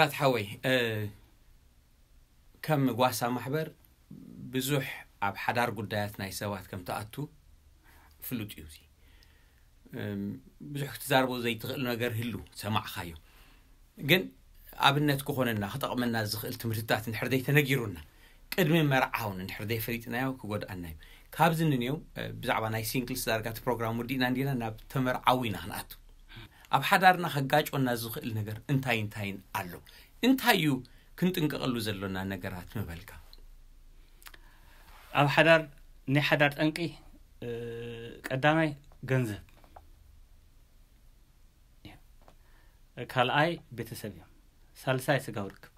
ራት ሓወይ፣ ከም ጓሳ ማሕበር ብዙሕ ኣብ ሓዳር ጉዳያት ናይ ሰባት ከም ትኣቱ ፍሉጥ እዩ። እዚ ብዙሕ ክትዛርቦ ዘይትኽእል ነገር ህሉ ሰማዕኻዮ፣ ግን ኣብነት ክኾነና ክጠቕመና ዝኽእል ትምህርትታት እንድሕር ዘይተነጊሩና፣ ቅድሚ መርዓውን እንድሕር ዘይፈሊጥናዮ ክጎድኣና እዩ። ካብዚ ንንየው ብዛዕባ ናይ ሲንግልስ ዳርጋ እቲ ፕሮግራም ወዲእና እንዲና ናብ ተመርዓዊ ኢና ክንኣቱ። ኣብ ሓዳርና ከጋጮና ዝኽእል ነገር እንታይ እንታይን ኣሎ? እንታይ እዩ ክንጥንቀቐሉ ዘሎና ነገራት ምበልካ? ኣብ ሓዳር ናይ ሓዳር ጠንቂ ቀዳማይ ገንዘብ፣ ካልኣይ ቤተሰብ እዮም፣ ሳልሳይ ስጋዊ ርክብ።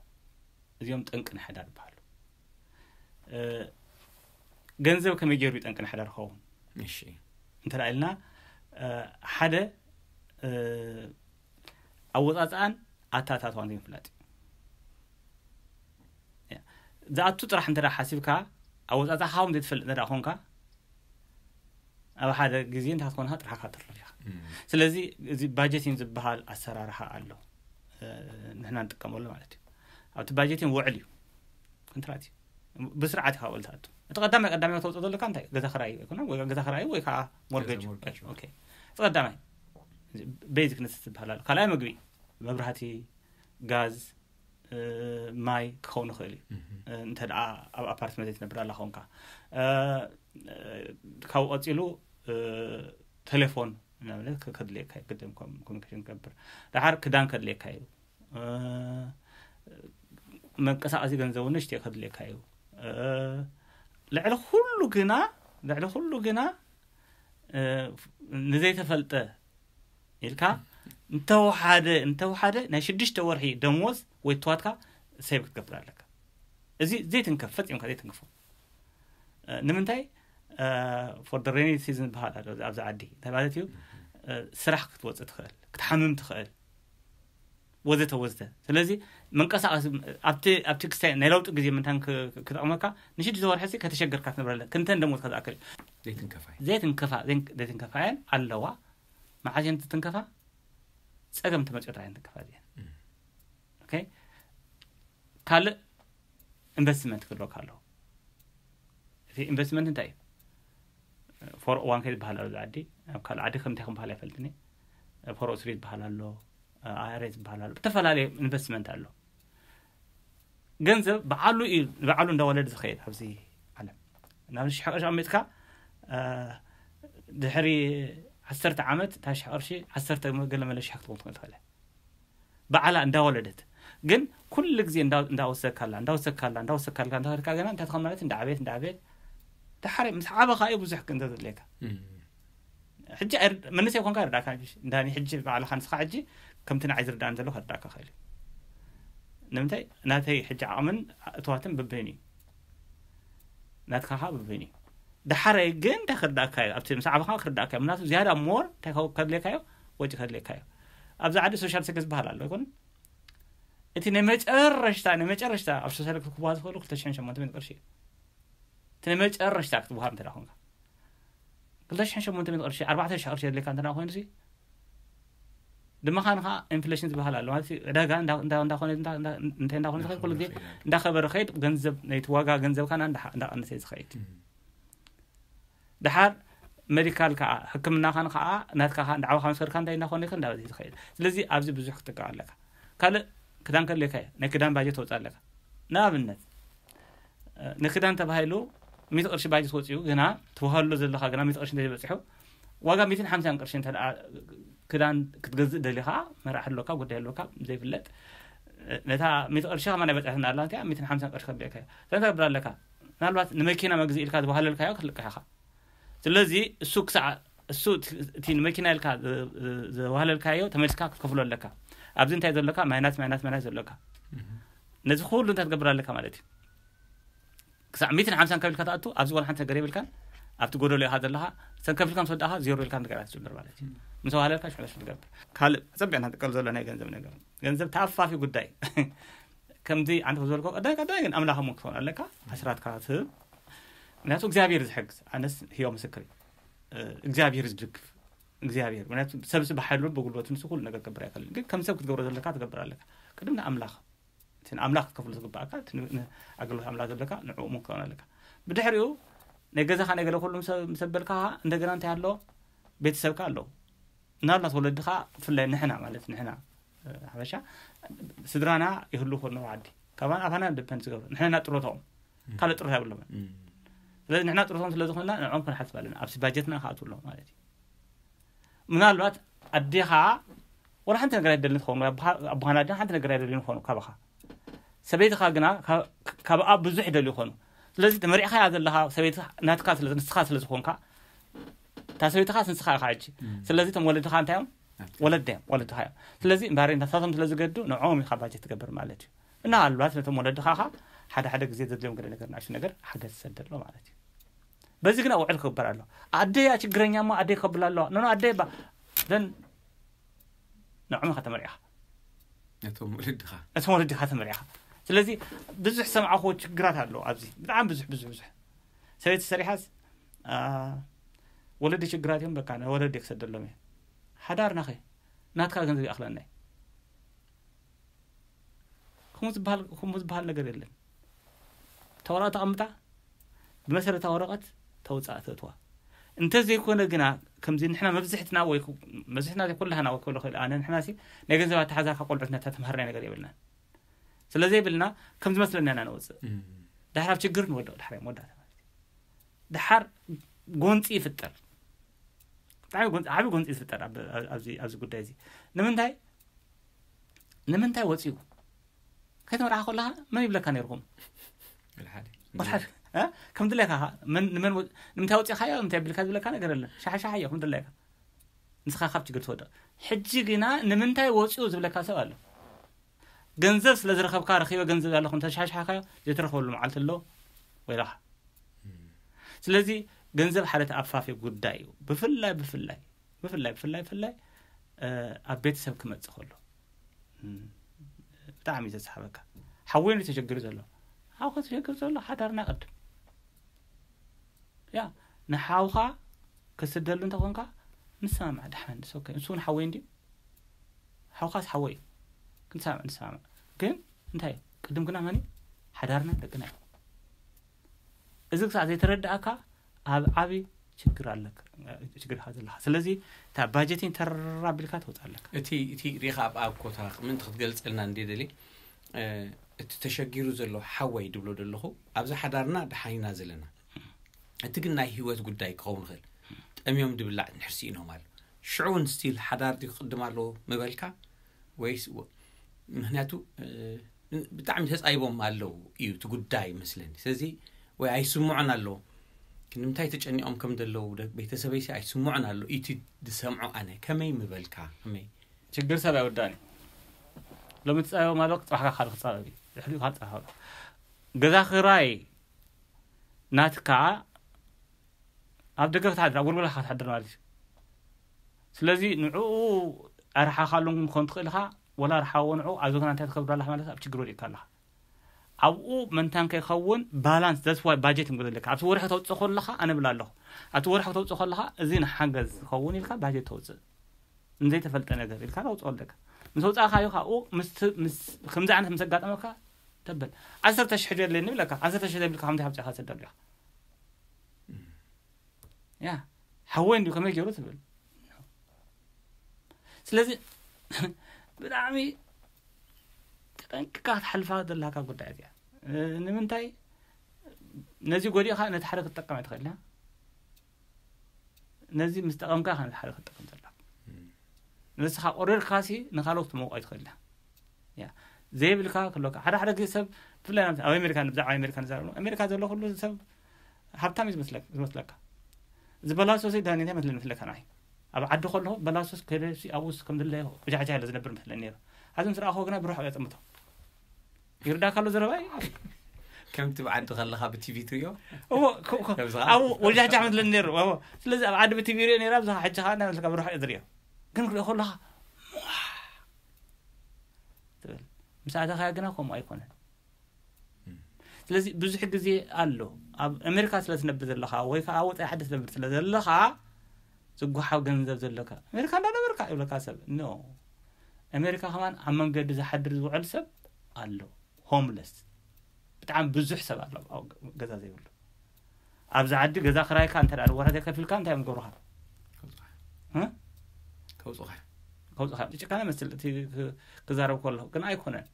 እዚኦም ጠንቂ ናይ ሓዳር ይበሃሉ። ገንዘብ ከመይ ገይሩ ጠንቂ ናይ ሓዳር ክኸውን? እሺ፣ እንተ ኢልና ሓደ ኣወፃፅኣን ኣታታትዋን ዘይምፍላጥ እዩ። ዝኣቱ ጥራሕ እንተ ሓሲብካ፣ ኣወፃፅኣኻ እውን ዘይትፈልጥ እንተ ኮንካ፣ ኣብ ሓደ ግዜ እንታይ ክትኮንካ ጥራሕ ካትርፍ ኢኻ። ስለዚ እዚ ባጀቲን ዝበሃል ኣሰራርሓ ኣሎ፣ ንሕና ንጥቀመሉ ማለት እዩ። ኣብቲ ባጀቲን ውዕል እዩ፣ ኮንትራት እዩ። ብስርዓት ኢኻ ውዕል ትኣቱ። እቲ ቀዳማይ ቀዳማይ ተውፅኦ ዘለካ እንታይ? ገዛ ክራይ ኣይኮነ ወይ ገዛ ክራይ ወይ ከዓ ሞርገጅ። ኦኬ፣ እቲ ቀዳማይ ቤዚክ ነስስ ዝበሃል ኣሎ። ካልኣይ ምግቢ፣ መብራህቲ፣ ጋዝ፣ ማይ ክኸውን ይኽእል እዩ። እንተ ደኣ ኣብ ኣፓርትመንት ትነብር ኣላ ኾንካ፣ ካብኡ ቀፂሉ ቴሌፎን ንኣብነት ከድልየካ እዩ፣ ግድን ኮሚኒኬሽን ክገብር። ደሓር ክዳን ከድልየካ እዩ፣ መንቀሳቐሲ ገንዘቡ ንእሽተይ ከድልየካ እዩ። ልዕሊ ኩሉ ግና፣ ልዕሊ ኩሉ ግና ንዘይተፈልጠ ኢልካ እንተወሓደ፣ እንተወሓደ ናይ ሽዱሽተ ወርሒ ደሞዝ ወይ ትዋትካ ሴቭ ክትገብር ኣለካ። እዚ ዘይትንከፍ፣ ፈፂምካ ዘይትንክፎ። ንምንታይ? ፎር ደ ሬኒ ሲዝን ዝበሃል ኣሎ ኣብዚ ዓዲ። እንታይ ማለት እዩ? ስራሕ ክትወፅእ ትኽእል፣ ክትሓምም ትኽእል፣ ወዘተ ወዘተ። ስለዚ መንቀሳቐሲ ኣብቲ ክስታይ ናይ ለውጢ ግዜ ምንታን ክጠቕመካ፣ ንሽዱሽተ ወርሒ ሲ ከተሸገርካ ትነብረለ። ክንተን ደሞዝካ ዝኣክል እዩ። ዘይትንከፋ እየን። ዘይትንከፋ እየን ኣለዋ። መዓስ እየን ትንከፋ? ፀገም ተመፅኦ ጥራሕ እየን ትንከፋ እዚአን። ካልእ ኢንቨስትመንት ክህልወካ ኣለዎ። እቲ ኢንቨስትመንት እንታይ እዩ? ፎር ኦ ዋን ኬ ዝበሃል ኣሎ ኣብዚ ዓዲ። ኣብ ካልእ ዓዲ ከምታይ ክበሃል ኣይፈልጥን እየ። ፎር ኦ ስሪ ዝበሃል ኣሎ፣ ኣይ ኣር ኤ ዝበሃል ኣሎ፣ ዝተፈላለየ ኢንቨስትመንት ኣሎ። ገንዘብ ብዓሉ እዩ፣ ብዓሉ እንዳወለደ ዝኸይድ ኣብዚ ዓለም። ናብ ሽሕ ቅርሺ ኣሚጥካ ድሕሪ ዓሰርተ ዓመት እታ ሽሕ ቅርሺ ዓሰርተ ገለ መለ ሽሕ ክትኸውን ትኽእል ትኽእል። ብዓላ እንዳወለደት። ግን ኩሉ ግዜ እንዳወሰካላ እንዳወሰካላ እንዳወሰካላ እንዳወሰካላ እንዳኸድካ ገና እንታይ ትኸውን ማለት እንዳዓበየት እንዳዓበየት፣ ድሓር ምስ ዓበኻ እዩ ብዙሕ ገንዘብ ዘድልየካ። ሕጂ መንእሰይ ኮንካ ይርዳእካ። እንዳኒ ሕጂ ባዕልኻ ንስኻ ሕጂ ከምቲ ንዓይ ዝርዳእን ዘሎ ከርዳእካ ክእል እዩ። ንምንታይ? ናተይ ሕጂ ዓቕምን እትዋትን ብብህን እዩ፣ ናትካ ከዓ ብብህን እዩ። ድሓረይ ግን እንታይ ክርዳእካ እዩ? ኣብቲ ምስ ዓበኻ ክርዳእካ እዩ። ምክንያቱ ዝያዳ ሞር እንታይ ከድልየካ እዩ? ወጪ ከድልየካ እዩ። ኣብዚ ዓዲ ሶሻል ሴክስ ዝበሃል ኣሎ ይኮን? እቲ ናይ መጨረሽታ ናይ መጨረሽታ ኣብ ሶሻል ክብሃ ዝኽእሉ ክልተ ሽሕን ሸሞንተ ሚእትን ቅርሺ እዩ። እቲ ናይ መጨረሽታ ክትብሃር እንተ ኮንካ ክልተ ሽሕን ሸሞንተ ሚእትን ቅርሺ፣ ኣርባዕተ ሽሕ ቅርሺ የድልየካ እንተ ኮይኑ ሲ ድማ ኻን ከዓ ኢንፍሌሽን ዝበሃል ኣሎ ማለት እዩ። ዕዳጋ እንዳኾነ እንታይ እንዳኾነ ዝኸይድ ኩሉ ግዜ እንዳኸበረ ኸይድ፣ ገንዘብ ናይቲ ዋጋ ገንዘብካ እንዳቐነሰ ዝኸይድ። ድሓር ሜዲካል ከዓ ሕክምናኻን ከዓ ናትካ ከዓ እንዳዓባኻ ምስ ከድካ እንታይ እንዳኾነ ይኸ እንዳበዚ ዝኸይድ። ስለዚ ኣብዚ ብዙሕ ክትጥቀም ኣለካ። ካልእ ክዳን ከድልየካ እዩ፣ ናይ ክዳን ባጀት ተውፅእ ኣለካ። ንኣብነት ንክዳን ተባሂሉ ሚእቲ ቅርሺ ባጀት ወፂኡ፣ ግና ትውሃሎ ዘለካ ግና ሚእቲ ቅርሺ እንተዘይበፂሑ፣ ዋጋ ሚእትን ሓምሳን ቅርሺ እንተ ደኣ ክዳን ክትገዝእ ደሊኻ፣ መርዓ ህልወካ ጉዳይ ህልወካ ዘይፍለጥ፣ ነታ ሚእቲ ቅርሺ ከማን ኣይበፅሐትን ኣላ፣ እቲኣ ሚእትን ሓምሳን ቅርሺ ከድልየካ እዩ። እንታይ ትገብር ኣለካ? ምናልባት ንመኪና መግዝኢ ኢልካ ዝዋሃለልካዮ ክትልቅሕ ኢኻ። ስለዚ እሱ ክሳዕ እሱ እቲ ንመኪና ኢልካ ዘዋህለልካዮ ተመልስካ ክትከፍሎ ኣለካ። ኣብዚ እንታይ ዘለካ? ማይናስ ማይናስ ማይናስ ዘለካ። ነዚ ኩሉ እንታይ ትገብር ኣለካ ማለት እዩ? ክሳዕ ሚእትን ሓምሳን ከፊልካ ትኣቱ፣ ኣብዚ ዋላ ሓንቲ ነገር የብልካን። ኣብቲ ጎደሎ ኢኻ ዘለኻ። ሰን ከፊልካ ምስ ወዳእኻ ዜሮ ኢልካ ነገር ትጅምር ማለት እዩ። ምስ ዋህለልካ ሽሕለሽ ትገብር። ካልእ ኣጸቢቕና ንጥቀል ዘሎ ናይ ገንዘብ ነገር፣ ገንዘብ ተኣፋፊ ጉዳይ። ከምዚ ኣንተ ዝበልኮ ቀዳይ ቀዳይ ግን ኣምላኽ እሞ ክትኾን ኣለካ። ኣስራትካ ትህብ። ምክንያቱ እግዚኣብሔር ዝሕግዝ፣ ኣነስ ህያው ምስክር እዩ። እግዚኣብሔር ዝድግፍ እግዚኣብሔር። ምክንያቱ ሰብሲ ብሓይሉ ብጉልበቱ ንሱ ኩሉ ነገር ክገብር ኣይክእልን። ግን ከም ሰብ ክትገብሮ ዘለካ ትገብር ኣለካ። ቅድም ንኣምላኽ እቲ ንኣምላኽ ክትከፍሎ ዝግባእካ፣ እቲ ን- ን- ኣገልግሎት ኣምላኽ ዘለካ ንዕኡ እውን ክትከውን ኣለካ። ብድሕሪኡ ናይ ገዛኻ ናይ ገለ ኩሉ ምስ- ምስ ኣበልካ፣ እንደገና እንታይ ኣሎ? ቤተሰብካ ኣለዉ። ምናልባት ወለድኻ፣ ብፍላይ ንሕና ማለት ንሕና፣ እ፣ ሓበሻ ስድራና ይህሉ ኮኑ ዓዲ፣ ካባን ኣባና ደፐንድ ዝገብሩ፣ ንሕና ጥሮታኦም ካልእ ጥሮታ የብሎምን። ስለዚ ንሕና ጥሮታኦም ስለ ዝኾንና ንዕኦም ክንሓስብ ኣለና። ኣብዚ ባጀትና ክኣትዉ ኣለዎ ማለት እዩ። ምናልባት ኣዴኻ ወላ ሓንቲ ነገር ኣይደልን ትኸውን፣ ኣቦኻ- ኣቦኻን ኣዴን ሓንቲ ነገር ኣይደልን ይኾኑ ካባኻ። ሰበይትኻ ግና ካብ- ካብኣ ብዙሕ ይደልዩ ይኾኑ። ስለዚ ተመሪዕኻያ ዘለኻ ሰበይቲ ናትካ ስለ ንስኻ ስለ ዝኾንካ፣ እታ ሰበይትኻ ንስኻ ኢኻ ሕጂ። ስለዚ እቶም ወለድኻ እንታይ እዮም? ወለደ እዮም፣ ወለድኻ እዮም። ስለዚ እምበኣር ናሳቶም ስለ ዝገዱ ንዕኦም ኢኻ ባጀት ትገብር ማለት እዩ። እና ኣልባት ነቶም ወለድኻ ኻ ሓደ ሓደ ግዜ ዘድልዮም ገለ ነገር ንኣሽቱ ነገር ሓገዝ ትሰደሎ ማለት እዩ። በዚ ግን ኣውዕል ክግበር ኣሎ። ኣደያ ችግረኛ እሞ ኣደይ ከብላ ኣለዋ። ኖ፣ ኖ፣ ኣደይ ባ ዘን ንዕኦም ኢኻ ተመሪዕኻ። ነቶም ወለድኻ ነቶም ወለድኻ ተመሪዕኻ። ስለዚ ብዙሕ ሰምዓኹ ችግራት ኣሎ ኣብዚ። ብጣዕሚ ብዙሕ፣ ብዙሕ፣ ብዙሕ። ሰበይቲ ሰሪሓስ፣ አ፣ ወለዲ ችግራት እዮም፣ በቃ፣ ንወለዲ ክሰደሎም እየ። ሓዳርና ኸ? ናትካ ገንዘብ ይኣኽለና እዩ። ከምኡ ዝበሃል፣ ከምኡ ዝበሃል ነገር የለን። እታ ወረቐት ተቐምጣ፣ ብመሰረታ ወረቐት ተውፅኣ ተእትዋ። እንተዘይኮነ ግና፣ ከምዚ ንሕና መብዝሕትና ወይ ኩ- መብዝሕትና ኩላህና ወይ ክብሎ ክእል ኣነ፣ ንሕና ሲ ናይ ገንዘብ ኣተሓዛካ ቆልዑትና እታ ተምሃርናይ ነገር የብልናን። ስለዘይብልና ከም ዝመስለና ኢና ነውፅእ። ድሓር ኣብ ችግር ንወድቕ፣ ድሓር መወዳእታ ማለት እዩ። ድሓር ጎንፂ ይፍጠር። ብጣዕሚ ጎንፂ፣ ዓብዪ ጎንፂ ዝፍጠር ኣብ- ኣብዚ ኣብዚ ጉዳይ እዚ። ንምንታይ ንምንታይ ወፂኡ? ከይተመርዓ ከለኻ መን ይብለካ ነይርኩም? ወልሓደ ወልሓደ እ? ከም ድላይካ ኻ- መን- ንመን ወ- ንምንታይ ወፂኻዮ፣ ንምንታይ ቢልካ ዝብለካ ነገር የለን። ሻሓሻሓዮ ከም ድላይካ፣ ንስኻ ካብ ችግር ትወድቕ። ሕጂ ግና ንምንታይ ወፂኡ ዝብለካ ሰብ ኣሎ። ገንዘብ ስለ ዝረኸብካ፣ ረኺበ ገንዘብ ኣለኹ እንተሻሻሕካዮ፣ ዘይትረኸበሉ መዓልቲ ኣሎ ወይ ኢኻ። ስለዚ ገንዘብ ሓደ ተኣፋፊ ጉዳይ እዩ። ብፍላይ ብፍላይ ብፍላይ ብፍላይ ብፍላይ እ፣ ኣብ ቤተሰብ ክመጽእ ከሎ፣ እም፣ ብጣዕሚ እዩ ዘስሓበካ። ሓወይ እንዲ ተሸግሩ ዘሎ፣ ሓው ከተሸግር ዘሎ ሓዳርና ቅድም። ያ ንሓውኻ ክስደሉ እንተኾንካ፣ ንሰማማዕ። ደሓን፣ ንሱ ኦኬ፣ ንሱ እውን ሓወይ እንዲ፣ ሓውኻስ ሓወይ እዩ። ክንሰማማዕ ንሰማማዕ። ግን እንታይ እዩ? ቅድም ግና መን እዩ? ሓዳርና ደቅና እዩ። እዚ ክሳዕ ዘይተረዳእካ፣ ኣብ ዓቢ ችግር ኣለካ፣ ችግር ኢኻ ዘለኻ። ስለዚ እታ ባጀቲን ተራ ቢልካ ተውፅእ ኣለካ። እቲ እቲ ሪኻ ኣብ ኣብ ኮታ ምእንቲ ክትገልፀልና እንደ ደሊ፣ እ፣ እቲ ተሸጊሩ ዘሎ ሓወይ ድብሎ ዘለኹ፣ ኣብዚ ሓዳርና ደሓን ኢና ዘለና። እቲ ግን ናይ ህይወት ጉዳይ ክኸውን ይኽእል። ጠምዮም ድብላዕ ንሕርሲ ኢኖም ኣሎ። ሽዑ እውን ስቲል ሓዳር ድዩ ክቕድም ኣለዎ ምበልካ? ወይስ ወ- ምክንያቱ፣ እ፣ ብጣዕሚ ተፃይቦም ኣለዉ እዩ እቲ ጉዳይ መስለኒ። ስለዚ ወይ ኣይስምዑን ኣለዉ፣ ክንምንታይ ተጨኒቖም ከም ዘለዉ ደ- ቤተሰበይሲ ኣይስምዑን ኣለዉ። እቲ ዝሰምዖ ኣነ ከመይ ምበልካ? ከመይ? ችግር ሰብ ኣይወዳእን እዩ። ሎሚ ትፃበቦም ኣለዉ፣ ፅባሕካ ካልእ ክፃበብ እዩ። ድሕሪኡ ካልእ ፅባሕ ኣለዉ። ገዛ ክራይ ናትካ ኣብ ደገ ክትሓድር፣ ኣብ ጎልጎላ ክትሓድር ማለት እዩ። ስለዚ ንዕኡ ኣርሓኻሉን ክኾን ትኽእል ኢኻ፣ ወላ ኣርሓዎ ንዕኡ ኣብ ዘገና እንታይ ትከብር ኣለኻ ማለት ኣብ ችግር ወዲቕካ ኣለኻ። ኣብኡ መንታን ከይኸውን ባላንስ፣ that's why ባጀት ንብሎ ዘለካ። ኣብቲ ወርሒ ተውፅእ ከለኻ ኣነ ብላ ኣለኹ። ኣብቲ ወርሒ ተውፅእ ከለኻ እዚ ንሓገዝ ዝኸውን ኢልካ ባጀት ተውፅእ። ንዘይተፈልጠ ነገር ኢልካ ተውፅኦ ኣለካ። ምስ ኣውፃእካዮ ካብኡ ምስ ት- ምስ ከምዚ ዓይነት ምስ ኣጋጠመካ ተበል። ዓሰርተ ሽሕ ዶ የድልየኒ ይብለካ። ዓሰርተ ሽሕ ዘይብልካ ከምዚ ሓብፂኻ ትሰደሉ ኢኻ። ያ ሓወይ እንዲሁ ከመይ ገይሩ ትብል። ስለዚ ብጣዕሚ ተጠንቅቃ ክትሓልፋ ዘለካ ጉዳይ እዚኣ። እ፣ ንምንታይ ነዚ ጎዲእካ ነቲ ሓደ ክትጠቀም ኣይትኽእል ኢኻ። ነዚ ምስ ጠቐምካ ኢኻ ነቲ ሓደ ክትጠቀም ዘለካ። ንስኻ ቆሪርካሲ ንኻልኦት ትመውቆ ኣይትኽእል ኢኻ። ያ ዘይብልካ ክህልወካ ሓደ ሓደ ግዜ ሰብ ብፍላይ ናብ ኣብ ኣሜሪካ፣ ብዛዕባ ኣሜሪካ ንዛረብ፣ ኣሜሪካ ዘሎ ኩሉ ሰብ ሃብታም እዩ ዝመስለካ ዝመስለካ። ዝበላሶ ሲ ዳኒ እንታይ መስለኒ መስለካ ንዓይ፣ ኣብ ዓዲ ከለኹ በላሶስ ከደሲ ኣብኡስ ከም ድለዮ ብጃሕጃ ኢለ ዝነብር መስለኒ ነይሩ። ኣብዚ ምስ ረኣኹ ግና ብርሑቕ እየ ዝጥምቶ። ይርዳካ ኣሎ ዘረባይ? ከምቲ ብዓዲ ከለኻ ብቲቪ ትሪኦ እዎ፣ ከ- ከ- ከምዚ ኣብኡ ወጃጃ መስለኒ ነይሩ። እዎ። ስለዚ ኣብ ዓዲ ብቲቪ ሪኦ ነይራ፣ ኣብዚ ሕጂ ከዓ እንታይ መስለካ ብርሑቕ እየ ዝሪኦ። ግን ክሪኦ ከለኻ ትብል። ምስ ኣተኻዮ ግና ከምኡ ኣይኮነን። ስለዚ ብዙሕ ግዜ ኣሎ ኣብ ኣሜሪካ ስለ ትነብር ዘለኻ ወይ ከዓ ወፃኢ ዓዲ ትነብር ስለ ዘለኻ ዝጓሓፍ ገንዘብ ዘለካ ኣሜሪካ እንዳነበርካ ይብለካ ሰብ። ኖ፣ ኣሜሪካ ከማን ኣብ መንገዲ ዝሓድር ዝውዕል ሰብ ኣሎ። ሆምለስ ብጣዕሚ ብዙሕ ሰብ ኣሎ ኣብ ገዛ ዘይብሉ። ኣብዚ ዓዲ ገዛ ክራይካ እንተ ደኣ ወራተ ከፊልካ እንታይ እዮም ዝገብሩኻ? ከውፅኻ እ? ከውፅኻ ከውፅኻ ጭካነ መስል እቲ ክ- ክዛረብ ከለኹ ግን ኣይኮነን።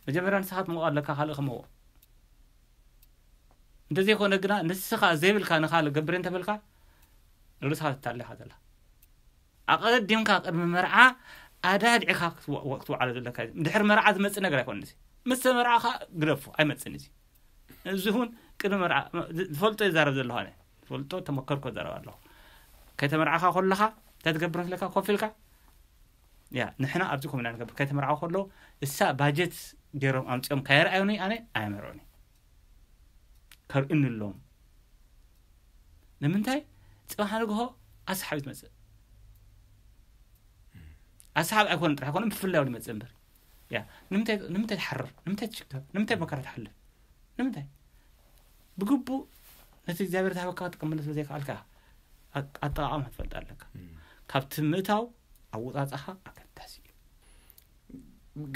መጀመርያ ንስኻ ትመውቕ ኣለካ፣ ካልእ ክመውቕ። እንተዘይኮነ ግና ንስኻ ዘይብልካ ንኻልእ ገብር እንተበልካ ርእስኻ ትታለኻ ዘላ። ኣቐዲምካ ቅድሚ መርዓ ኣዳድዕካ ክትወ- ክትወዓሎ ዘለካ እዩ። ድሕሪ መርዓ ዝመፅእ ነገር ኣይኮነን እዚ። ምስ ተመርዓኻ ግደፎ፣ ኣይመፅን እዚ። እዚ እውን ቅድሚ መርዓ ዝፈልጦ ይዛረብ ዘለኹ ኣነ። ዝፈልጦ ተመከርኮ ዘረብ ኣለኹ። ከይተመርዓኻ ከለኻ እንታይ ትገብር መስለካ? ኮፍ ኢልካ ያ ንሕና ኣብዚ ኮሚና ንገብር። ከይተመርዓኹ ከለዉ እሳ ባጀት ገይሮም ኣምፂኦም ካየርኣዩኒ ኣነ ኣየመርዑኒ። ከርእዩኒ ኣለዎም። ንምንታይ? ፅባሕ ንግሆ ኣስሓብ ትመፅእ። ኣስሓብ ኣይኮነ ጥራሕ ኮነ ብፍላይ ይመፅእ እምበር ያ ንምንታይ ንምንታይ ትሓርር? ንምንታይ ትሽከም? ንምንታይ መከራ ትሓልፍ? ንምንታይ? ብግቡእ ነቲ እግዚኣብሔር ዝሃበካ ክትጥቀመሉ ስለ ዘይከኣልካ ኣጠቃቀማ ትፈልጥ ኣለካ። ካብቲ ምእታው ኣወፃፃኻ ኣገዳሲ እዩ።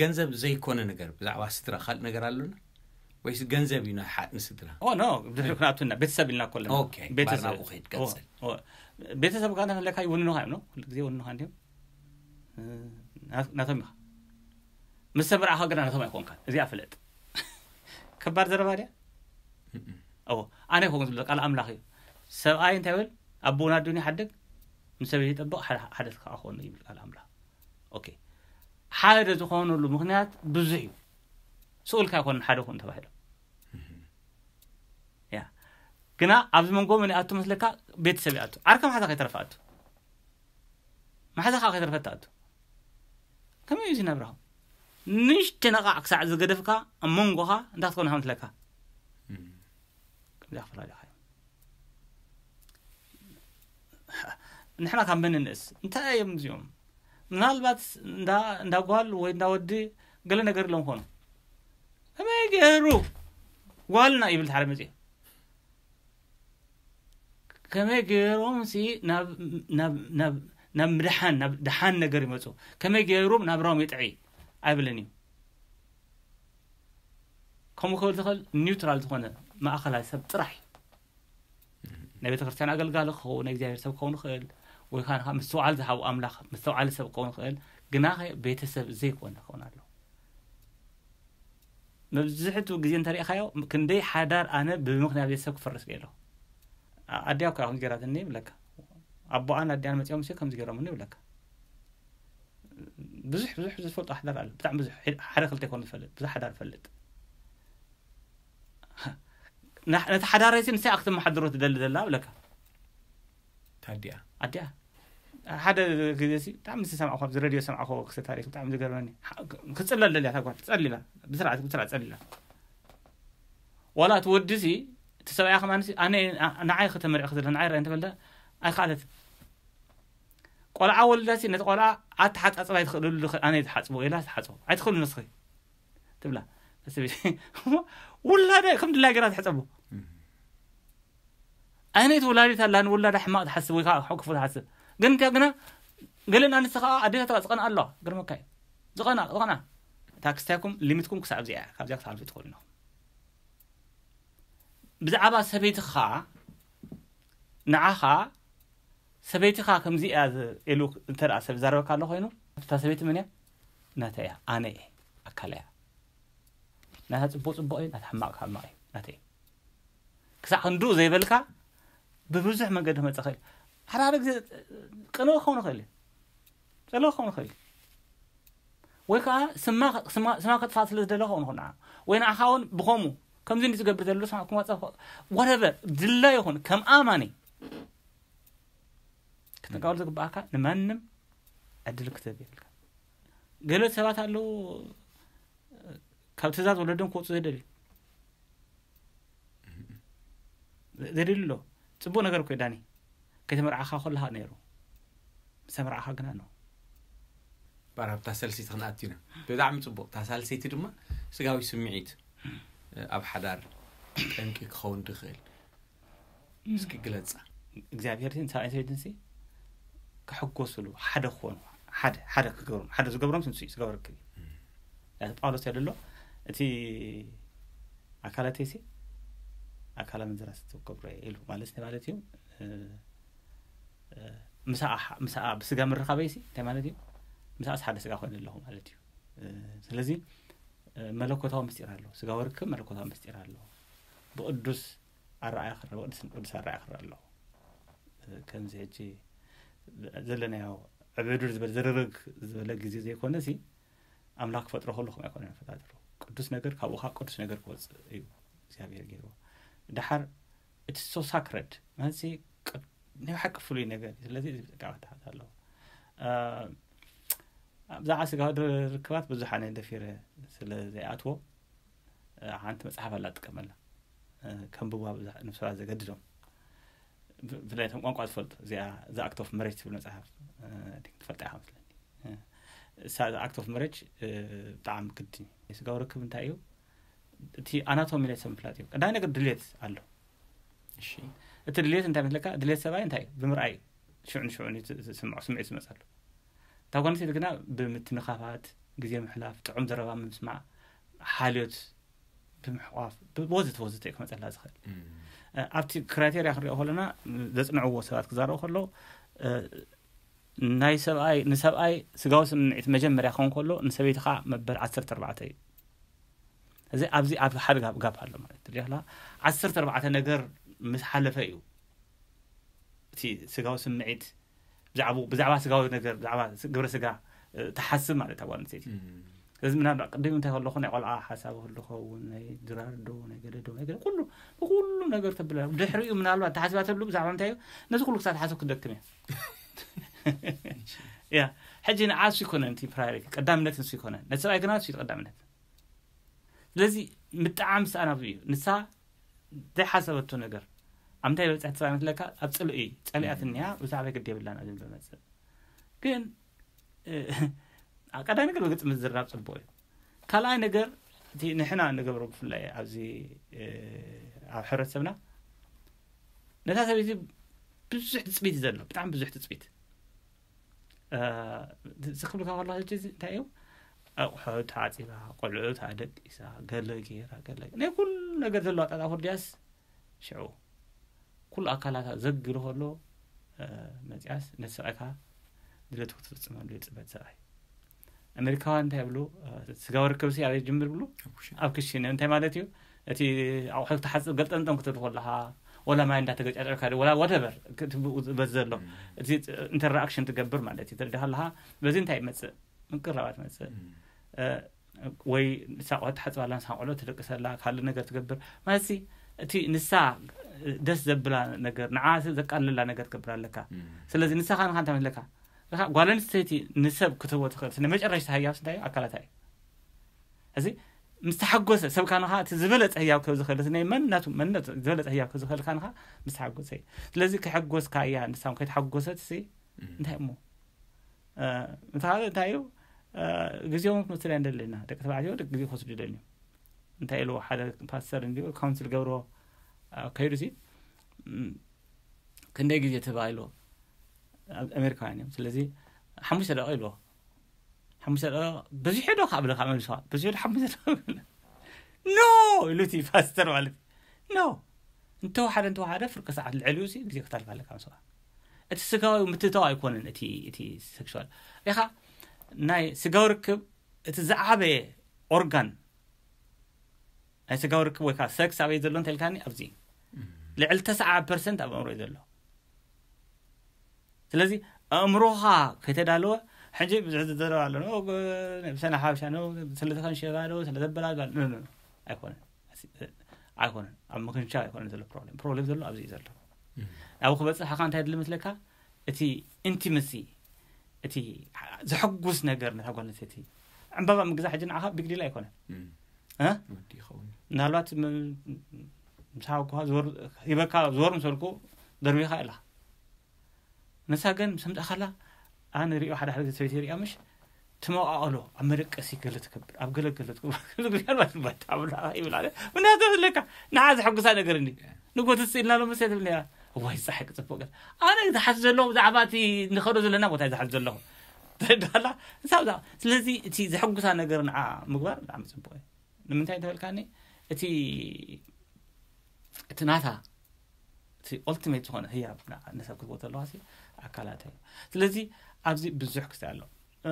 ገንዘብ ዘይኮነ ነገር ብዛዕባ ስድራ ካልእ ነገር ኣሎና ወይስ ገንዘብ እዩ ንሓ- ንስድራ? ኦ ኖ ድሕሪ ክንኣቱና ቤተሰብ ኢልና ኮለና ኦኬ፣ ቤተሰብ ባርናቁ ከይድ ቀጽል። ኦ፣ ቤተሰብ ጋር ተፈለካ ይውንኑኻ እዮም ነው ሁሉ ግዜ ይውንኑኻ እንዲም ናቶም ኢኻ። ምስ ተመርዓኻ ግና ናቶም ኣይኮንካን። እዚኣ ፍለጥ። ከባድ ዘረባ ድያ? ኦ ኣነ ይኮን ዝብል ቃል ኣምላኽ እዩ። ሰብኣይ እንታይ ይብል? ኣቦና ኣዱኒ ሓድግ ምስ ሰበይቲ ይጠብቕ ሓደ ሓደ ክኣኾኑ ይብል ቃል ኣምላኽ። ኦኬ ሓደ ዝኾነሉ ምክንያት ብዙሕ እዩ። ስኡልካ ይኮን ሓደ ኮን ተባሂሉ ያ ግና ኣብዚ መንጎ መን ይኣቱ መስለካ? ቤተሰብ ይኣቱ። ዓርከ መሓዛ ከይተረፈ ኣቱ። መሓዛ ከዓ ከይተረፈ ኣቱ። ከመይ እዩ ዝነብራ? ንሽቲ ነቓዕ ክሳዕ ዝገደፍካ ኣብ መንጎኻ እንታይ ክትኮን ከም ትለካ ከምዚ ኣፈላለኻ እዮም። ንሕና ካብ መን ንእስ እንታይ እዮም እዚኦም? ምናልባት እንዳ እንዳ ጓል ወይ እንዳ ወዲ ገለ ነገር ኢሎም ኾኑ ከመይ ገይሩ ጓልና ይብል ሓደ መፅኡ ከመይ ገይሮም ሲ ናብ ናብ ናብ ናብ ምድሓን ናብ ድሓን ነገር ይመፁ ከመይ ገይሮም ናብ ሮም ይጥዒ ኣይብልን እዩ። ከምኡ ክብል ዝኽእል ኒውትራል ዝኾነ ማእኸላይ ሰብ ጥራሕ እዩ። ናይ ቤተክርስትያን ኣገልጋሊ ክኸውን ናይ እግዚኣብሔር ሰብ ክኸውን ይኽእል ወይ ከዓ ምስትውዓል ዝሃቡ ኣምላኽ ምስተውዓሊ ሰብ ክኸውን ይኽእል ግና ቤተሰብ ዘይኮነ ክኸውን ኣለዎ። መብዝሕቱ ግዜ እንተሪእኻዮ ክንደይ ሓዳር ኣነ ብምክንያት ቤተሰብ ክፈርስ ገይረ ኣዲያ እኮ ከምዚ ገይራትኒ ይብለካ ኣቦኣን ኣዲያን መፂኦም ሲ ከምዚ ገይሮምኒ ይብለካ። ብዙሕ ብዙሕ ዝፈልጦ ሓዳር ኣሎ ብጣዕሚ ብዙሕ ሓደ ክልተ ይኮን ዝፈልጥ ብዙሕ ሓዳር ፈልጥ። ነቲ ሓዳረይ ሲ ንሳይ ክትመሓድሮ ትደሊ ዘላ ብለካ ታዲያ ኣዲኣ ሓደ ግዜ ሲ ብጣዕሚ ዝሰምዕኹ ኣብዚ ረድዮ ሰምዕኹ ክስተ ታሪክ ብጣዕሚ ዝገርመኒ ክፅለል ደልያ ታጓል ትፀሊላ ብስርዓት ብስርዓት ፀሊላ ዋላ እቲ ወዲ ሲ እቲ ሰብኣያ ከማን ሲ ኣነ ንዓይ ከተመሪዕክ ዘለ ንዓይ ራይ እንተበለ ኣይከኣለት ቆልዓ ወልዳ ሲ ነቲ ቆልዓ ኣተሓፃፅባ ኣይትኽእልሉ ኣነ ትሓፅቦ ኢላ ትሓፅቦ ኣይትኽእሉ ንስኺ ትብላ ውላዳ ከም ድላይ ገራ ትሕፀቦ ኣይነት ውላዲት ኣላ ንውላዳ ሕማቕ ትሓስብ ወይ ከዓ ክፉ ትሓስብ ግን እንተ ግና ገለን ኣንስቲ ከዓ ኣዴታታ ዝቐንኣ ኣለዋ ግርመካ እዩ ዝቐና ዝቐና እታ ክስታይኩም ሊሚትኩም ክሳብ እዚኣ እያ ካብዚኣ ክትሓልፉ ትኽእሉ ኢኹም ብዛዕባ ሰበይትኻ ንዓኻ ሰበይትኻ ከምዚ እያ ኢሉ እንተ ሰብ ዛረበካ ኣሎ ኮይኑ እታ ሰበይቲ መን እያ ናተ እያ ኣነ እየ ኣካል እያ ናታ ፅቡቅ ፅቡቅ እዩ ናታ ሕማቅ ሕማቅ እዩ ናተ እዩ ክሳዕ ክንድኡ ዘይበልካ ብብዙሕ መንገዲ ክመፀ ክእል ሓደ ሓደ ግዜ ቅንኡ ክኸውን ይኽእል እዩ ፀለዎ ክኸውን ይኽእል እዩ ወይ ከዓ ስማ ስማ ከጥፋእ ስለ ዝደለ ክኸውን ይኽእል ንዓ ወይ ንዓኻ እውን ብኸምኡ ከምዚ እንዲ ዝገብር ዘሎ ስማ ክመፀ ወረበር ድላ ይኹን ከም ኣማኒ ክትንቃወል ዝግባኣካ ንማንም ዕድል ክትህብ የብልካ ገለ ሰባት ኣለዉ ካብ ትእዛዝ ወለዶም ክወፁ ዘደልዩ ዘደልዩ ኣሎ ፅቡቅ ነገር እኮ ዳኒ ከይተመርዓኻ ከለካ ነይሩ ምስ ተመርዓኻ ግና ነው ባር ኣብታ ሰልሲት ክንኣት ኢና ብጣዕሚ ፅቡቅ እታ ሳልሰይቲ ድማ ስጋዊ ስምዒት ኣብ ሓዳር ጠንቂ ክኸውን ድኽእል እስኪ ግለፃ እግዚኣብሔር ሰብኣይ ሰበይትን ክሕጎስሉ ሓደ ክኾኑ ሓደ ሓደ ክገብሮም ሓደ ዝገብሮም ስንሱ ዝገበርክ ጳውሎስ ያደሎ እቲ ኣካላተይሲ ኣካላ ምዝራስ ትገብሮ ኢሉ ማለት እንታይ ማለት እዩ? እ፣ እ፣ ምሳኣ ሓ- ምሳኣ ብስጋ ምርኻበይሲ እንታይ ማለት እዩ? ምሳኣስ ሓደ ስጋ ኮይኑ ኣለኹ ማለት እዩ። እ፣ ስለዚ እ፣ መለኮታዊ ምስጢር ኣሎ። ስጋዊ ርክብ መለኮታዊ ምስጢር ኣሎ። ብቅዱስ ኣረኣያ ክረአ ቅዱስ ቅዱስ ኣረኣያ ክረአ ኣለዎ። እ፣ ከምዚ ሕጂ ዘለናዮ ዕብድር ዝበለ ዝርርግ ዝበለ ግዜ ዘይኮነ ሲ ኣምላኽ ክፈጥሮ ከሎ ከምኡ ኣይኮነን ፈጣጥሩ። ቅዱስ ነገር ካብኡ ከዓ ቅዱስ ነገር ክወፅእ እዩ እግዚኣብሔር ገይርዎ። ደሓር እቲ ሶ ሳክረድ ማለት ሲ ቅድ- ናይ ብሓቂ ፍሉይ ነገር እዩ። ስለዚ እዚ ብጥንቃቐ ክትሓዝ ኣለዎ። እ፣ ብዛዕባ ስጋዊ ርክባት ብዙሕ ኣነ ደፊረ ስለ ዘይኣትዎ ሓንቲ መፅሓፍ ኣላ ትጥቀመላ ከንብዋ ብዙሕ ንብሰባት ዘገድዶም ብፍላይ ቶም ቋንቋ ዝፈልጡ እዚኣ the act of marriage ትብል መፅሓፍ ትፈልጣ ኢኻ መስለኒ። እሳ the act of marriage ብጣዕሚ ግድን እዩ። ስጋዊ ርክብ እንታይ እዩ? እቲ ኣናቶሚ ናይ ሰብ ምፍላጥ እዩ። ቀዳማይ ነገር ድሌት ኣሎ። እሺ እቲ ድሌት እንታይ መስለካ? ድሌት ሰብኣይ እንታይ እዩ? ብምርኣይ ሽዑ ንሽዑ ዝስምዖ ስምዒት ዝመፀሉ። እታ ጓል ኣንስተይቲ ግና ብምትንኻፋት፣ ግዜ ምሕላፍ፣ ጥዑም ዘረባ ምስማዕ፣ ሓልዮት ብምሕቋፍ ወዘተ ወዘተ እዩ ክመፀላ ዝኽእል። ኣብቲ ክራይቴርያ ክንሪኦ ከለና ዘፅንዕዎ ሰባት ክዛረቡ ከለዉ ናይ ሰብኣይ ንሰብኣይ ስጋዊ ስምዒት መጀመርያ ክኸውን ከሎ ንሰበይቲ ከዓ መበል ዓሰርተ ኣርባዕተ እዩ። እዚ ኣብዚ ኣብ ሓደ ጋብ ጋብ ኣሎ ማለት ትሪላ ዓሰርተ ኣርባዕተ ነገር ምስ ሓለፈ እዩ እቲ ስጋዊ ስምዒት ብዛዕባ ብዛዕባ ስጋዊ ነገር ብዛዕባ ግብረ ስጋ ትሓስብ ማለት እታ ጓል ኣንስተይቲ። እዚ ምናልባት ቅድም እንታይ ከለኹ ናይ ቆልዓ ሓሳብ ክህሉ ኸውን ናይ ድራር ዶ ናይ ገለ ዶ ናይ ገለ ኩሉ ብኩሉ ነገር ተብላ ድሕሪኡ ምናልባት ተሓስባ ተብሉ ብዛዕባ እንታይ እዩ ነዚ ኩሉ ክሳብ ተሓሰብ ክደክም እያ። ያ ሕጂ ንዓሱ ይኮነ እቲ ፕራዮሪቲ ቀዳምነት ንሱ ይኮነ ነቲ ሰብኣይ ግና ንሱ እዩ ቀዳምነት። ስለዚ ምጥዓም ስኣን ኣብዚ እዩ። ንሳ ዘይሓሰበቶ ነገር ኣብ እንታይ በፅሕ ትፃ መስለካ ኣብ ፅልኢ ፀሊኣት እኒሃ ብዛዕባ ግዲ የብላን ኣብ ዝብል መፅእ ግን ቀዳሚ ነገር ብግልፂ ምዝራብ ፅቡቅ እዩ። ካልኣይ ነገር እቲ ንሕና ንገብሮ ብፍላይ ኣብዚ ኣብ ሕብረተሰብና ነታ ሰበይቲ ብዙሕ ትፅቢት እዩ ዘሎ ብጣዕሚ ብዙሕ ትፅቢት ዝክብልካ ከሎ ሕጂ እንታይ እዩ ኣቑሑ ተዓፂባ ቆልዑ ተደቂሳ ገለ ገይራ ገለ ናይ ኩሉ ነገር ዘለዎ ኣጣጣ ኩርዲያስ ሽዑ ኩሉ ኣካላታ ዘግሉ ከሎ መፅያስ ነቲ ሰብኣይካ ድለቱ ክትፍፅመሉ ይፅበት ሰብኣይ። ኣሜሪካውያን እንታይ ይብሉ ስጋዊ ርክብሲ ኣበይ ጅምር ብሉ ኣብ ክሽን እንታይ ማለት እዩ እቲ ኣቑሑ ክትሓፅብ ገልጠምጠም ክትብል ከለካ ወላ ማይ እንዳተገጫጨርካ ወላ ወደበር ክትብኡ ዝበዝ ዘሎ እቲ ኢንተራክሽን ትገብር ማለት እዩ ትርዳ ከለካ በዚ እንታይ ይመፅእ ምቅራባት መፅእ ወይ ንሳ ቆልዑ ትሓፅባላ ንሳ ቆልዑ ትደቅሰላ ካልእ ነገር ትገብር ማለት እቲ ንሳ ደስ ዘብላ ነገር ንዓ ዘቃልላ ነገር ትገብር ኣለካ። ስለዚ ንሳኻ ንካ እንታይ መስለካ ጓል ኣንስተይቲ ንሰብ ክትህቦ ትኽእል ስለ መጨረሽታ ህያብ እንታይ ኣካላታ እዩ። እዚ ምስ ተሓጎሰ ሰብካ ንኻ እቲ ዝበለፀ ህያብ ከብ ዝኽእል ናይ መንነቱ መንነቱ ዝበለፀ ህያብ ከብ ዝኽእል ካንኻ ምስ ተሓጎሰ እዩ። ስለዚ ከሐጎስካ እያ ንሳም ከይተሓጎሰት ሲ እንታይ እሞ ምትኻለ እንታይ እዩ ግዜኦም ክትመስል እያ እንደለና ደቂ ተባዕትዮ ደቂ ግዜ ክወስዱ ይደልዩ። እንታይ ኢሉ ሓደ ፓስተር እንዲ ካውንስል ገብሮ ከይዱ ሲ ክንደይ ግዜ ተባሂሉ ኣሜሪካውያን እዮም። ስለዚ ሓሙሽተ ደቂ ኢልዎ ሓሙሽተ ደቂ በዚሑ ዶ ካብ ብለካ መልስዋ በዚሑ ዶ ሓሙሽተ ደቂ ኖ ኢሉ እቲ ፓስተር ማለት ኖ እንተወሓደ እንተወሓደ ፍርቂ ሰዓት ልዕሊኡ ሲ ግዜ ክታልፍ ኣለካ ምስዋ እቲ ስጋዊ ምትእታው ኣይኮነን እቲ እቲ ሴክሹዋል ኢኻ ናይ ስጋዊ ርክብ እቲ ዝዓበየ ኦርጋን ናይ ስጋዊ ርክብ ወይ ከዓ ሰክስ ኣበይ ዘሎ እንተልካኒ ኣብዚ ልዕሊ ተስዓ ፐርሰንት ኣብ ኣእምሮ እዩ ዘሎ። ስለዚ ኣእምሮኻ ከይተዳለወ ሕጂ ብዙሕ ዝዘረብ ኣሎ ሰነ ሓበሻ ስለዝኸንሸባ ዶ ስለዘበላል ኣይኮነን ኣይኮነን ኣብ ምክንሻ ኣይኮነን ዘሎ ፕሮብሌም ፕሮብሌም ዘሎ ኣብዚ እዩ ዘሎ። ናብኡ ክበፅሕ ካ እንታይ ድሊ መስለካ እቲ ኢንቲመሲ እቲ ዘሐጉስ ነገር ነታ ጓል ኣንስተይቲ ዕምባባ ምግዛእ ሕጂ ንዓኻ ቢግ ዲል ኣይኮነን። እ? ወዲ ይኸውን። ምናልባት ም- ምሳኻ እኳ ዝወር- ሂበካ ዝወር ምሰልኩ ደርቢኻ ኢኻ። ንሳ ግን ምስ ኣምጻእካላ ኣነ ሪኦ ሓደ ሓደ ግዜ ሰበይቲ ሪኣ ምሽ ትመቃቀሎ ኣብ መደቀሲ ገለ ትከብር ኣብ ገለ ገለ ትከብር ምናልባት በታ ብላ ይብል ኣለ ምናልባት ለካ ንዓ ዘሐጉሳ ነገር እንዲ ንጎት ስኢልና ሎ መሰል ትብል ነራ እዋይ ፀሓይ ክፅቡቅ ገለ ኣነ ዝሓስ ዘለኹ ብዛዕባ እቲ ንኸዶ ዘለና ቦታ እዩ ዝሓስ ዘለኹ ተዳላ ንሳ ብዛ ስለዚ እቲ ዘሐጉሳ ነገር ንዓ ምግባር ብጣዕሚ ፅቡቅ እዩ። ንምንታይ እንተበልካኒ፣ እቲ እቲ ናታ እቲ ኦልቲሜት ዝኾነ ህያብ ንዓ-፣ ንሰብ ክትቦ ተለዋ ኣካላታ እዩ። ስለዚ ኣብዚ ብዙሕ ክስታይ ኣሎ። እ፣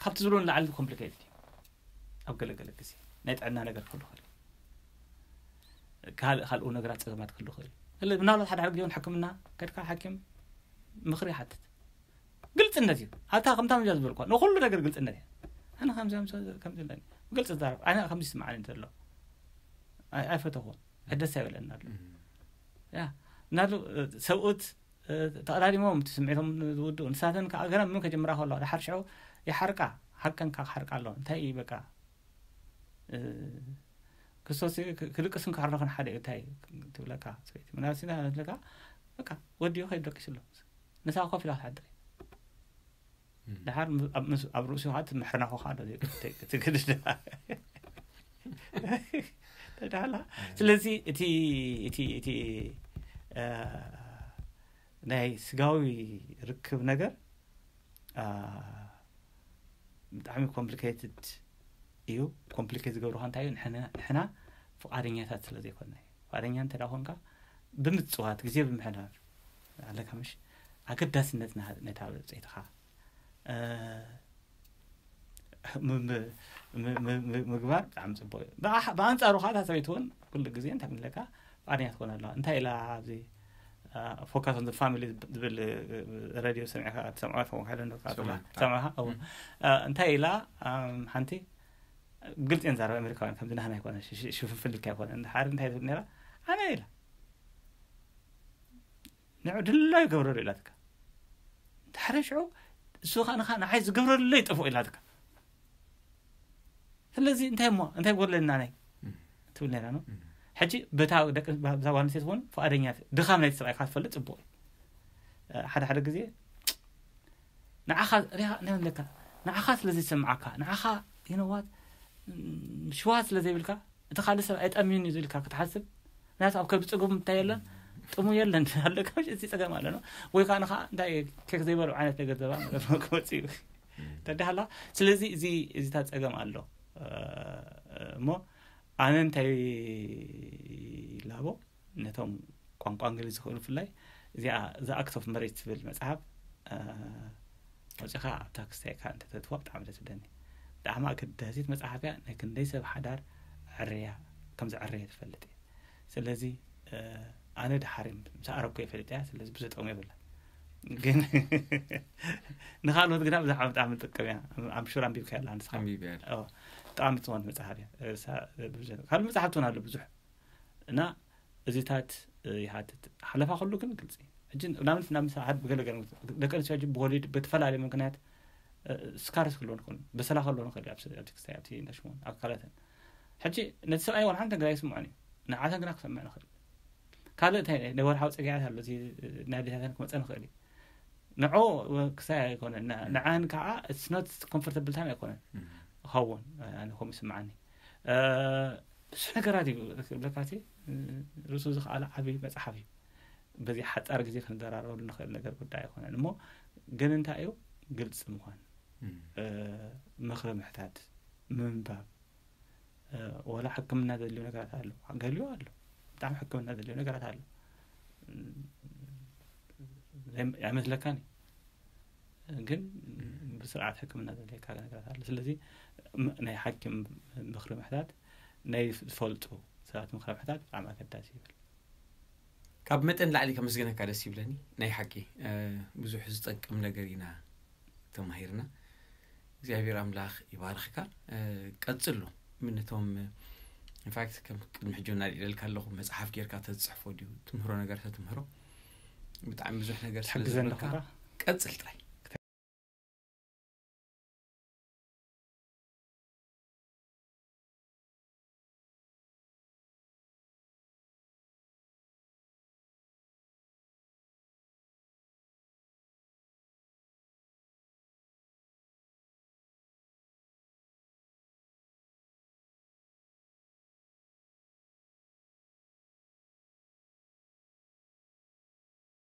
ካብቲ ዝብሎ ንላዕሊ ኮምፕሊኬትድ እዩ። ኣብ ገለገለ ግዜ ናይ ጥዕና ነገር ክህሉ ይኽእል እዩ። ካልእ ካልኡ ነገራት ጸገማት ክህሉ ይኽእል እዩ። ስለ ምናልባት ሓደ ሓደ ግዜ እውን ሕክምና ከድካ ሓኪም ምኽሪ ይሓትት። ግልጽነት እዩ ኣብታ ከምታ ምጃ ዝበልኳ ንኹሉ ነገር ግልጽነት እዩ። ኣነ ከምዚ ከምዚ ከምዚ ኣለኒ፣ ግልጽ ዛረብ ኣነ ከምዚ ይስምዓኒ ዘሎ ኣይፈተኹን፣ ደስ ኣይበለኒ ኣሎ። ያ ናሉ ሰብኡት ተቐዳዲሞም እቲ ስምዒቶም ዝውድኡ፣ ንሳተን ከዓ ገና ምን ከጀምራ ከለዋ ድሓር ሽዑ ይሓርቃ፣ ሓቀን ከዓ ክሓርቃ ኣለዎ። እንታይ እዩ በቃ፣ እ፣ ክርስቶስ ክ-፣ ክልቅስን ክሕረኽን ሓደ እዩ። እንታይ ትብለካ ሰበይቲ? ምናልባት ሲና ትብለካ፣ በቃ ወዲ እዩ ከይዱ ደቂሱ ኣሎ። ንሳ ኮፍ ኢላ ክትሓድር እዩ። ድሓር ም-፣ ኣብ ምስ-፣ ኣብ ርእሱ ከዓ እቲ ምሕርናኹ ከዓ ዶ ትግድድ። ተዳላ። ስለዚ እቲ፣ እቲ፣ እቲ፣ እ፣ ናይ ስጋዊ ርክብ ነገር፣ እ፣ ብጣዕሚ ኮምፕሊኬትድ እዩ። ኮምፕሊኬት ዝገብሩኻ እንታይ እዩ? ንሕና፣ ንሕና ፍቓደኛታት ስለ ዘይኮንና እዩ። ፍቓደኛ እንተ ደኣ ኮንካ፣ ብምጽዋት፣ ግዜ ብምሕዳር ኣለካ፣ ምሽ? ኣገዳስነት ናሃ-፣ ነታ ብጽኢትኻ፣ እ፣ ም-፣ ም-፣ ም-፣ ም-፣ ም-፣ ምግባር ብጣዕሚ ጽቡቕ እዩ። ብኣ-፣ ብኣንጻሩ ኸኣ እታ ሰበይቲ እውን ኩሉ ግዜ እንታይ ምለካ? ፍቓደኛ ትኾን ኣለዋ። እንታይ ኢላ ኣብዚ፣ እ፣ ፎካስ ኦን ዘ ፋሚሊ ዝብል፣ እ፣ ሬድዮ ሰሚዕካ ትሰምዖ ትኸውን፣ ካለ ንካ ትሰምዖ። ትሰምዕካ? እዎ። እ፣ እንታይ ኢላ፣ እም፣ ሓንቲ ግልጽ እየን ዛረባ ኣሜሪካውያን፣ ከምዚ ናህና ኣይኮነ፣ ሽ-፣ ሽ-፣ ሽፍንፍን ኢልካ ኣይኮነ። እንድሓር እንታይ ትብል ነይራ? ኣነ ኢላ። ንዑ ድላዩ ገብረሉ ኢላትካ። እንድሓር ሽዑ እሱ ኸኣ ንኻ ንዓይ ዝገብረሉ ይጠፍኦ ኢላትካ። ስለዚ እንታይ እሞ፣ እንታይ ጎድለና ናይ? እም። ትብል ነይራ ነው። እም። ሕጂ በታ ደቂ፣ በዛ ጓል ኣንስተይቲ እውን ፍቓደኛ፣ ድኻም ናይቲ ሰብኣይ ካብ ትፈልጥ ጽቡቕ እዩ። እ፣ ሓደ ሓደ ግዜ ንዓኻ ሪኻ፣ እንታይ ይብለካ? ንዓኻ ስለ ዘይስምዓካ፣ ንዓኻ፣ you know what? እም፣ ሽውሃት ስለ ዘይብልካ፣ እቲ ካልእ ሰብ ኣይጠምዩን እዩ ዝብልካ ክትሓስብ፣ ምክንያቱ ኣብ ከብዲ ጸገም እንታይ የለን? ጥሙ የለን። ኣለካ፣ እዚ ጸገም ኣሎ ነው። ወይ ከዓ ንኻ እንታይ ኬክ ዘይበልዑ ዓይነት ነገር ዘባ ነገር ክመጽእ እዩ። ተዳህላ። ስለዚ እዚ፣ እዚታት ጸገም ኣሎ። እ፣ እሞ ኣነ እንታይ ላቦ ነቶም ቋንቋ እንግሊዝ ዝኽእሉ ብፍላይ እዚኣ The Act of Marriage ትብል መጽሓፍ፣ እ፣ ኣውጺኻ ኣብታ ክስታይካ እንተተትዋ ብጣዕሚ ደስ ይብለኒ። ብጣዕሚ ኣገዳሲት መጽሓፍ እያ። ናይ ክንደይ ሰብ ሓዳር ዕርያ፣ ከም ዝዕረየ ትፈልጥ እየ። ስለዚ፣ እ፣ ኣነ ድሓር ምስ ኣረኩ እየ ፈሊጠያ። ስለዚ ብዙሕ ጥቕሚ የብላ። ግን ንኻልኦት ግና ብዛዕባ ብጣዕሚ ትጠቅም እያ። I'm sure ኣንቢብካያ ኣላ ንስኻ። ኣንቢበያ። ኦ፣ ብጣዕሚ ትኾን መጽሓፍ እያ። እሳ ብዙሕ፣ ካልእ መጽሓፍቲ እውን ኣሎ ብዙሕ። እና እዚታት፣ እ፣ ይሓትት። ሓለፋ ኩሉ ግን ግልጺ። ሕጂ ንኣብነት ናብ ምሳ ሓደ ብገለ ገለ ደቂ ኣንስትዮ ሕጂ ብወሊድ ብተፈላለየ ምክንያት፣ እ፣ ስካርስ ክህልወን ይኽእሉ፣ በሰላ ክህልወን ይኽእል እዩ፣ ኣብቲ፣ ኣብቲ ክስታይ፣ ኣብቲ እንዳሽሞን ኣካላተን። ሕጂ ነቲ ሰብኣይ ዋላ ሓንቲ ነገር ኣይስምዖን እዩ። ንዓተን ግና ክሰምዕ ንኽእል። ካልእ እንታይ ናይ ወርሓዊ ጸግያት ኣሎ፣ እዚ ናይ ኣዴታተን ክመጸን ይኽእል እዩ። ንዑ ክስታይ ኣይኮነን፣ ን-፣ ንዓን ከዓ it's not comfortable time ኣይኮነን። እም። ክኸውን፣ ኣነ ከምኡ ይስምዓኒ። እ፣ ብዙሕ ነገራት እዩ ክብለካ እቲ፣ እ፣ ርእሱ ዝኸኣለ ዓቢ መጽሓፍ እዩ። በዚ ሓጻር ግዜ ክንዘራረበሉ ንኽእል ነገር ጉዳይ ኣይኮነን። እሞ ግን እንታይ እዩ? ግልጺ ምዃን። እም። እ፣ ምኽሪ ምሕታት፣ ምንባብ፣ እ፣ ወላ ሕክምና ዘድልዩ ነገራት ኣሎ። ገሊኡ ኣሎ። ብጣዕሚ ሕክምና ዘድልዩ ነገራት ኣሎ። እም፣ ዘይ-፣ ኣይመስለካን እዩ። ግን እም። ብስርዓት ሕክምና ዘድልየካ ነገራት ኣሎ። ስለዚ ም-፣ ናይ ሓኪም ምኽሪ ምሕታት፣ ናይ ዝፈልጡ ሰባት ምኽሪ ምሕታት ብጣዕሚ ኣገዳሲ ይብል። ካብ መጠን ላዕሊ ከመስግነካ ደስ ይብለኒ። ናይ ሓቂ፣ እ፣ ብዙሕ ዝጠቅም ነገር ኢና ተማሂርና። እግዚኣብሔር ኣምላኽ ይባርኽካ። እ፣ ቀጽሎ። ምን ነቶም፣ ኢንፋክት፣ ከም ቅድሚ ሕጂ እውን ኣልዒለልካ ኣለኹ፣ መጽሓፍ ጌርካ ተዝጽሕፎ ድዩ? ትምህሮ ነገር ተትምህሮ። ብጣዕሚ ብዙሕ ነገር ስለ ትሕግዘኒ ዘለካ፣ ዲኻ? ቀጽል ጥራይ።